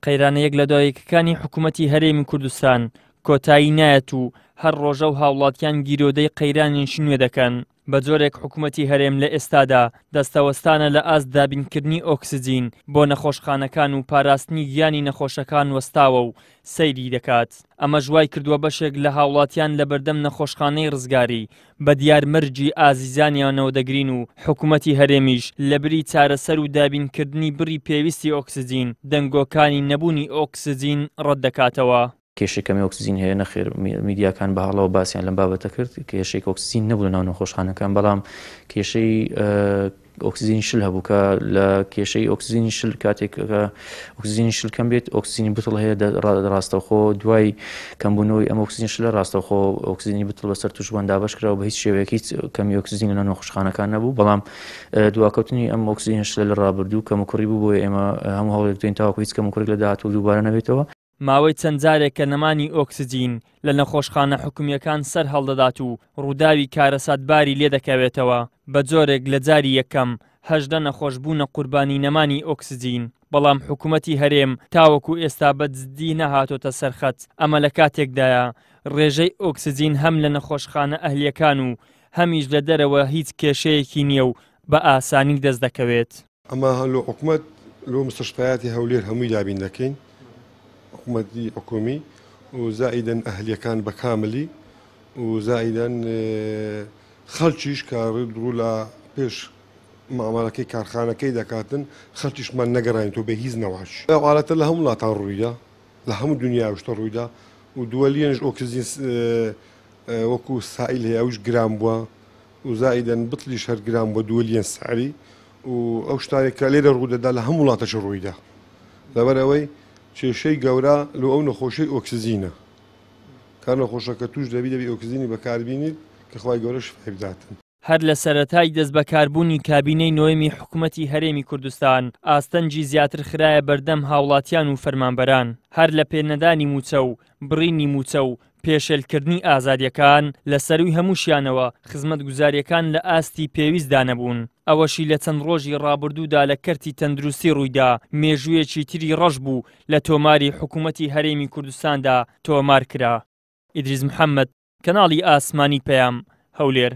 قەیرانە یەک لە دوایەکەکانی حکوومەتی هەرێمی کوردستان کۆتایی نایەت و هەر ڕۆژە و هاوڵاتیان گیرۆدەی قەیرانێکی نوێ دەکەن. بە جۆرێک حکوومەتی هەرێم لە ئێستادا دەستەوەستانە لە ئاست دابینکردنی ئۆکسجین بۆ نەخۆشخانەکان و پاراستنی گیانی نەخۆشەکان وەستاوە و سەیری دەکات. ئەمەش وای کردووە بەشێک لە هاوڵاتیان لەبەردەم نەخۆشخانەی ڕزگاری بە دیار مەرگی ئازیزانیانەوە دەگرین و حکومەتی هەرێمیش لەبری چارەسەر و دابینکردنی بڕی پێویستی ئۆکسجین، دەنگۆکانی نەبوونی ئۆکسجین ڕەتدەکاتەوە. کێشەی کەمی ئۆکسجین هەیە؟ نەخێر، میدیاکان بە هەڵەوە باسیان لەم بابەتە کرد، کێشەی ئۆکسجین نەبوو لەناو نەخۆشخانەکان، بەڵام کێشەی ئۆکسجینی شل هەبوو کە لە کێشەی ئۆکسجینی شل کاتێک ئۆکسجینی شل کەم بێت ئۆکسجینی بتڵ هەیە ڕاستەوخۆ دوای کەمبوونەوەی ئەم ئۆکسجین شلە ڕاستەوخۆ ئۆکسجینی بتڵ بەسەر توشبووان دابەش کرا و بە هیچ شێوەیەک هیچ کەمی ئۆکسجین لە نەخۆشخانەکان نەبوو بەڵام دواکەوتنی ئەم ئۆکسجینە شلە لە ڕابردوو کەموکوڕی بوو بۆیە ئێمە هەموو هەوڵێک دەین تاوەکو هیچ کەموکوڕێک لە داهاتوو دووبارە نەبێتەوە. ماوەی چەند جارێکە نەمانی ئۆکسجین لە نەخۆشخانە حکومییەکان سەر هەڵدەدات و ڕووداوی کارەساتباری لێدەکەوێتەوە، بە جۆرێک لە جاری یەکەم 18 نەخۆش بوونە قوربانی نەمانی ئۆکسجین، بەڵام حکومەتی هەرێم تاوەکو ئێستا بە جددی نەهاتۆتە سەر خەت، ئەمە لە کاتێکدایە ڕێژەی ئۆکسجین هەم لە نەخۆشخانە ئەهلییەکان و هەمیش لە دەرەوە هیچ کێشەیەکی نییە و بە ئاسانی دەست دەکەوێت. ئەمە لۆ حکومەت لۆ مستشفیاتی هەولێر هەمووی دابین دەکەین حکومەتی حکومی و زائیدەن ئەهلیەکان بە کاملی و زائیدەن خەڵکیش کە ڕوو لە پێش مامەڵەکەی کارخانەکەی دەکاتن خەڵکیشمان نەگەڕاین تۆ بە هیچ نەواش ئەو حاڵەتە لە هەموو وڵاتان ڕوویدا لە هەموو دنیا شتە ڕوویدا و دووەلیەنش ئۆکسجین وەکو سائیل هەیە ئەوش گران بووە و زائیدەن بتڵیش هەر گران بووە دووەلیەن سعری و ئەو شتانێک کە لێرە ڕوودەدا لە هەموو وڵاتەش ڕوویدا لەبەر ئەوەی کێشەی گەورە لۆ ئەو نەخۆشەی ئۆکسجینە کە نەخۆشەکە توش دەبی دەبی ئۆکسجینی بەکاربینیت کە خوای گەورە شفای بداتن. هەر لە سەرەتای دەستبەکاربوونی کابینەی نۆیەمی حکومەتی هەرێمی کوردستان، ئاستەنگی زیاتر خرایە بەردەم هاوڵاتیان و فەرمانبەران، هەر لە پێنەدانی مووچە و بڕینی مووچە و پێشێلکردنی ئازادییەکان، لە سەرووی هەمووشیانەوە خزمەتگوزارییەکان لە ئاستی پێویستدا نەبوون. ئەوەشی لە چەند ڕۆژی ڕابردوودا لە کەرتی تەندروستی ڕوویدا، مێژوویەکی تری ڕەش بوو لە تۆماری حکومەتی هەرێمی کوردستاندا تۆمار کرا. ئیدریس محەمەد، کەناڵی ئاسمانی پەیام، هەولێر.